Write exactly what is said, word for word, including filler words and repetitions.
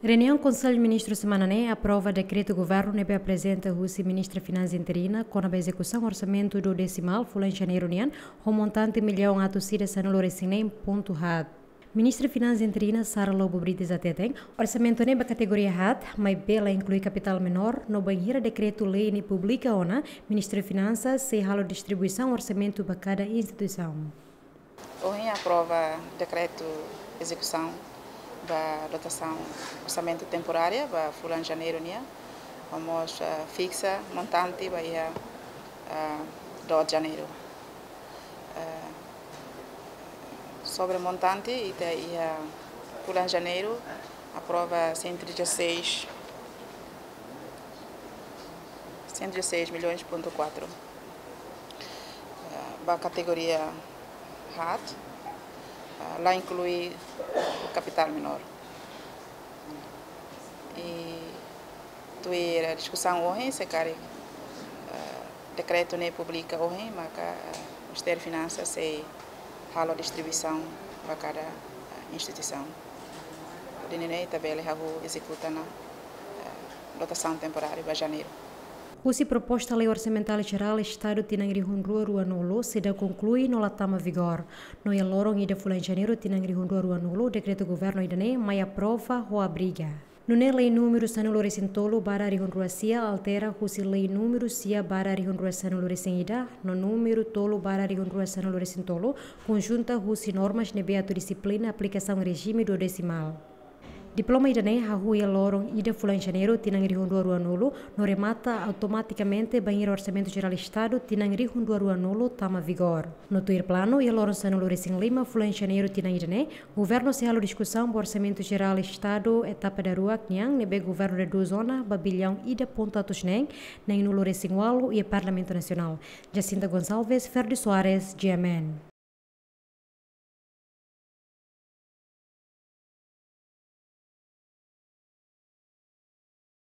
Reuniaun Konsellu Ministru semana ne'e aprova dekretu governu ne'ebé aprezenta husi Ministra Finansa interina kona-ba ezekusaun orsamentu duodesimal fulan Janeiru nian, ho montante millaun atus ida sanulu-resin-neen pontu haat. Ministra Finansa interina Sara Lobo Brites hateten, orsamentu ne'e ba kategoria haat, maibé la inklui kapitál menór, no bainhira dekretu-lei ne'e publika ona, Ministra Finansa sei halo distribuisaun orsamentu ba kada instituisaun. Ohin aprova dekretu ezekusaun ba dotasaun orsamentu temporária ba fulan Janeiru nian, no mós, ah, fiksa montante ba iha, ah, doze Janeiru. Ah, sobre montante, ita iha fulan Janeiru aprova cento e dezasseis, cento e dezasseis milhões ponto quatro. Ah, ba kategoria haat, ah, la inklui kapitál menór. I tuir diskusaun ohin, se karik, ah, dekretu ne'e publika ohin, maka, ah, Ministériu Finansa sei halo distribuisaun ba kada, ah, instituisaun. Hodi nune'e ita bele hahú ezekuta ona, ah, dotasaun temporária ba Janeiru. Husi proposta lei orsamentál jerál Estadu tinan rihun rua ruanulu seidauk konklui no la tama vigór. No iha loron ida fulan Janeiru tinan rihun rua ruanulu, dekretu governu ida-ne'e mai aprova ho abriga. Nune'e lei númeru sanulu-resin-tolu barra rihun rua sia altera husi lei númeru sia barra rihun rua sanulu-resin-ida, no númeru tolu barra rihun rua sanulu-resin-tolu, konjunta husi normas ne'ebé atu dixiplina aplikasaun rejime duodesimal. Diploma ida-ne'e hahú iha loron ida fulan Janeiru tinan rihun rua ruanulu, no remata automatikamente bainhira Orsamentu Jerál Estadu tinan rihun rua ruanulu tama vigór. No tuir planu, iha loron sanulu-resin-lima fulan Janeiru tinan ida-ne'e, governu sei halo diskusaun ba Orsamentu Jerál Estadu etapa daruak nian, ne'ebé governu redús ona ba billaun ida pontu atus neen neenulu-resin-ualu iha Parlamentu Nasionál. Jacinta Gonçalves, Ferdi Soares, G M N.